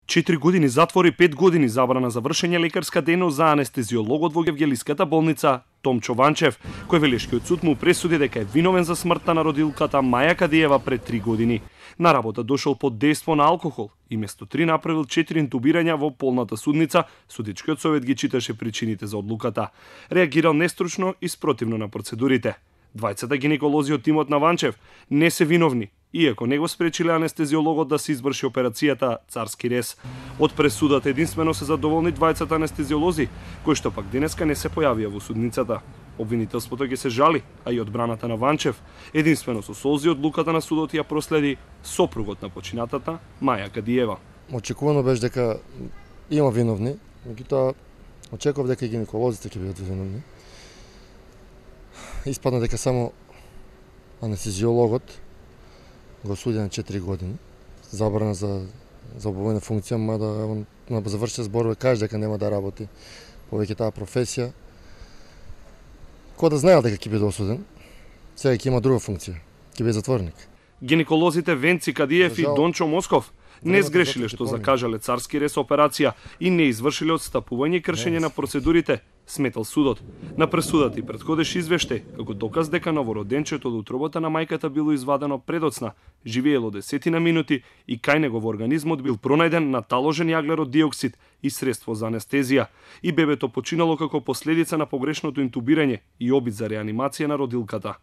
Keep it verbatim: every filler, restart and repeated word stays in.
четири години затвор и пет години забрана за вршење лекарска дејност за анестезиологот во Гевгелиската болница Томчо Ванчев, кој Велешкиот суд му пресуди дека е виновен за смртта на родилката Маја Кадиева пред три години. На работа дошол под дејство на алкохол и место три направил четири интубирања во полната судница. Судичкиот совет ги читаше причините за одлуката. Реагирал нестручно и спротивно на процедурите. Двајцата гинеколози од тимот на Ванчев не се виновни, иако не го спречиле анестезиологот да се изврши операцијата царски рез. Од пресудата единствено се задоволни двајцата анестезиолози, кои што пак денеска не се појавија во судницата. Обвинителството ги се жали, а и одбраната на Ванчев единствено со солзи одлуката на судот ја проследи сопругот на починатата Маја Кадиева. Очекувано беше дека има виновни, меѓутоа очекував дека и гинеколозите ќе бидат виновни. Испадна дека само анестезиологот го суди на четири години, забрана за за обавена функција, мада он на завршен зборове каже дека нема да работи повеќе таа професија. Кој да знаел дека ќе биде осуден, сега ќе има друга функција, ќе биде затворник. Гинеколозите Венци Кадиев и Дончо Москов не сгрешиле што закажале царски рез операција и не извршиле отстапување и кршење на процедурите, сметал судот. На пресудата и претходеше извештај како доказ дека новороденчето од утробата на мајката било извадено предоцна, живеело десетина минути и кај него во организмот бил пронајден наталожен јаглерод диоксид и средство за анестезија, и бебето починало како последица на погрешното интубирање и обид за реанимација на родилката.